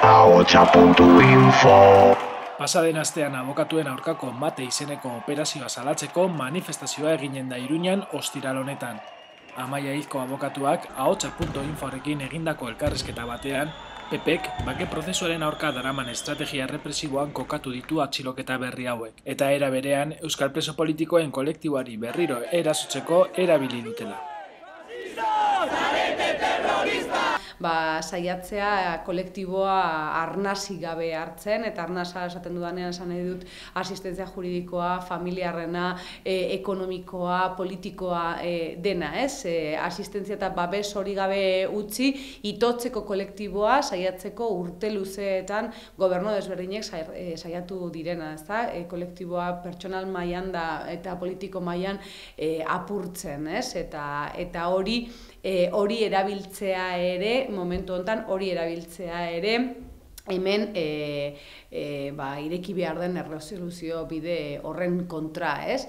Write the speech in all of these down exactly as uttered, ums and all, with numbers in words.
ahotsa puntu info. Pasaden astean abokatuen aurkako Mate izeneko operazioa salatzeko manifestazioa eginen da Iruñan ostiral honetan. Amaia Hizko abokatuak ahotsa puntu inforekin egindako elkarrizketa batean, P Pek bake prozesuaren aurka daraman estrategia represiboan kokatu ditu atxiloketa berri hauek, eta era berean euskal preso politikoen kolektiboari berriro erasotzeko erabili dutela. Ba, saiatzea kolektiboa arnasi gabe hartzen, eta arnasa esaten dudanean esan nahi dut asistentzia juridikoa, familiarrena, e, ekonomikoa, politikoa e, dena, ez? E, asistentzia eta babes hori gabe utzi, itotzeko kolektiboa saiatzeko urte luzeetan gobernu desberdinek saiatu direna, ez da? E, kolektiboa pertsonal mailan da eta politiko mailan e, apurtzen, ez? Eta, eta hori E, hori erabiltzea ere, momentu honetan hori erabiltzea ere, hemen e, e, ba, ireki behar den erresoluzio bide horren kontra, ez?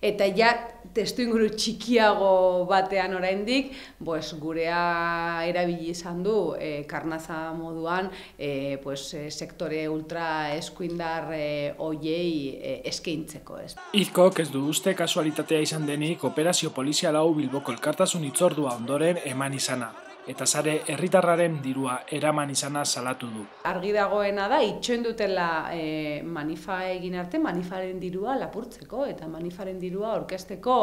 Eta ja, testuinguru txikiago batean oraindik, pues, gurea erabili izan du e, karnaza moduan e, pues, e, sektore ultra eskuindar e, oiei e, eskaintzeko, ez? Hizkok ez du uste kasualitatea izan denik operazio polizial hau Bilboko elkartasun hitzordua ondoren eman izana, eta sare herritarraren dirua eraman izana salatu du. Argi dagoena da, itxoin dutela e, manifa egin arte, manifaren dirua lapurtzeko, eta manifaren dirua orkesteko,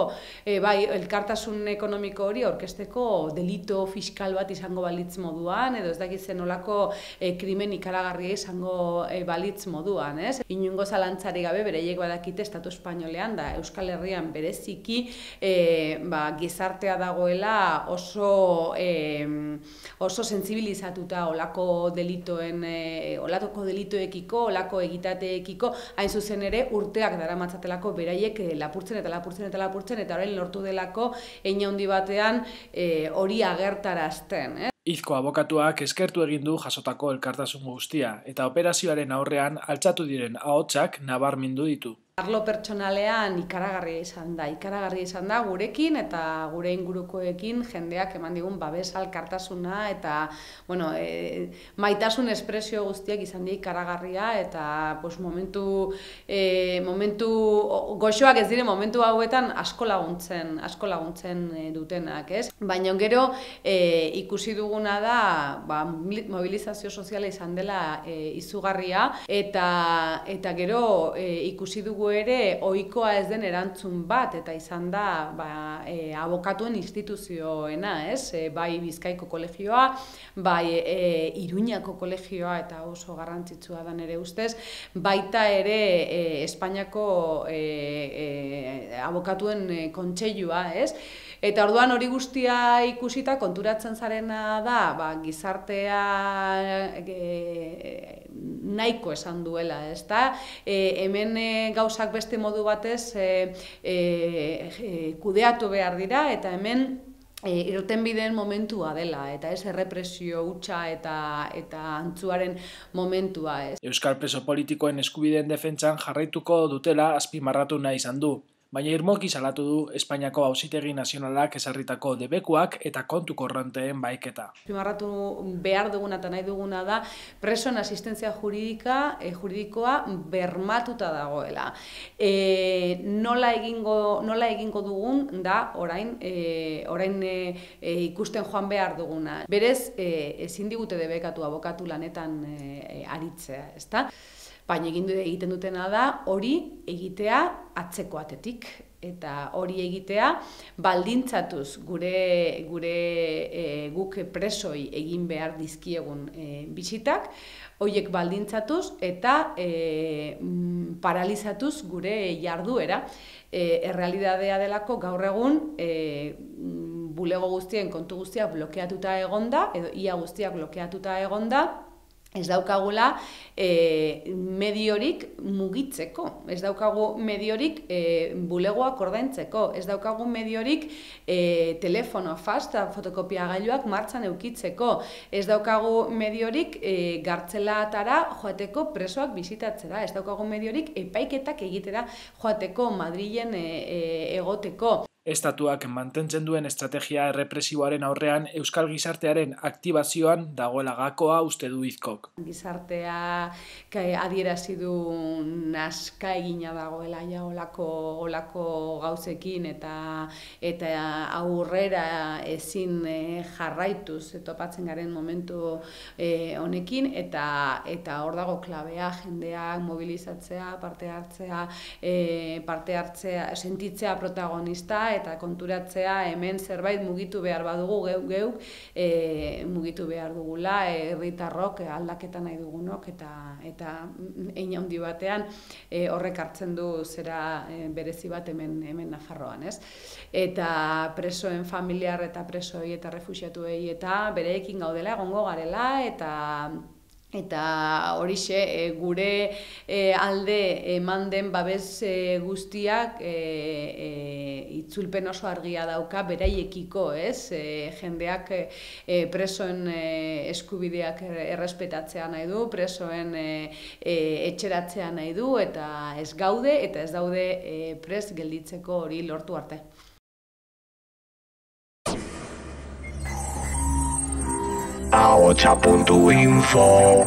e, bai, elkartasun ekonomiko hori orkesteko delito fiskal bat izango balitz moduan, edo ez dakitzen olako e, krimen ikaragarria izango e, balitz moduan, ez? Inungo zalantzari gabe, bereiek badakite Estatu Espainolean da Euskal Herrian bereziki e, ba, gizartea dagoela oso e, oso sentsibilizatuta olako delitoen, e, olako delitoekiko, olako egitateekiko, hain zuzen ere urteak daramatzatelako beraiek e, lapurtzen eta lapurtzen eta lapurtzen, eta orain lortu delako hein handi batean e, hori agertarazten. Eh? Hizko abokatuak eskertu egin du jasotako elkartasun guztia, eta operazioaren aurrean altxatu diren ahotsak nabarmindu ditu. Arlo pertsonalean ikaragarria izan da, ikaragarria izan da gurekin eta gure ingurukoekin jendeak eman digun babes elkartasuna eta bueno, e, maitasun espresio guztiak izan dira ikaragarria eta pues, momentu, e, momentu goxoak ez dire momentu hauetan asko laguntzen, asko laguntzen e, dutenak, ez? Baina gero e, ikusi duguna da ba, mobilizazio soziala izan dela e, izugarria eta, eta gero e, ikusi dugu ere ohikoa ez den erantzun bat eta izan da ba, e, abokatuen instituzioena, ez? E, bai Bizkaiko kolegioa, bai e, Iruñako kolegioa eta oso garrantzitsua da nere ustez, baita ere e, Espainiako e, e, abokatuen e, kontseilua, ez? Eta orduan hori guztia ikusita konturatzen zarena da, ba, gizartea e, nahiko esan duela, ezta? E, hemen e, gauzak beste modu batez e, e, e, kudeatu behar dira, eta hemen e, irtenbideen momentua dela, eta ez errepresio hutsa eta, eta antzuaren momentua, ez. Euskal preso politikoen eskubideen defentsan jarraituko dutela azpimarratu nahi izan du. Baina irmoki salatu du Espainiako Auzitegi Nazionalak ezarritako debekuak eta kontu korronteen baiketa. Azpimarratu behar duguna eta nahi duguna da presoen asistentzia juridika, e, juridikoa bermatuta dagoela. E, nola, egingo, nola egingo dugun da orain, e, orain e, e, ikusten joan behar duguna. Berez, e, ezin digute debekatu abokatu lanetan e, aritzea, ezta? Baina egiten dutena da hori egitea atzeko atetik. Eta hori egitea baldintzatuz gure, gure e, guk presoi egin behar dizkiegun e, bisitak, horiek baldintzatuz eta e, paralizatuz gure jarduera. E, errealitatea delako gaur egun e, bulego guztien kontu guztiak blokeatuta egonda, edo ia guztiak blokeatuta egonda, ez daukagula e, mediorik mugitzeko, ez daukagu mediorik e, bulegoak ordaintzeko, ez daukagu mediorik e, telefono fasta fotokopiagailuak martxan eukitzeko, ez daukagu mediorik e, gartzelatara joateko presoak bisitatzera, ez daukagu mediorik epaiketak egitera joateko Madrilen e, e, egoteko. Estatuak mantentzen duen estrategia errepresiboaren aurrean euskal gizartearen aktibazioan dagoela gakoa uste du Izkok. Gizartea adierazi du naska egina dagoela ja olako, olako gauzekin eta eta aurrera ezin jarraituz topatzen garen momentu honekin eta eta hor dago klabea, jendeak mobilizatzea, parte hartzea, parte hartzea, sentitzea protagonista eta konturatzea hemen zerbait mugitu behar badugu geuk geuk e, mugitu behar dugula herritarrok e, aldaketa nahi dugunok eta eta hein handi batean e, horrek hartzen du zera e, berezi bat hemen hemen Nafarroan, ez? Eta presoen familiar eta presoi eta refuxiatuei eta bereekin gaudela egongo garela eta Eta horixe e, gure e, alde eman den babes e, guztiak e, e, itzulpen oso argia dauka beraiekiko, ez? E, jendeak e, presoen e, eskubideak errespetatzea nahi du, presoen e, e, etxeratzea nahi du, eta ez gaude eta ez daude e, prest gelditzeko hori lortu arte. ahotsa puntu info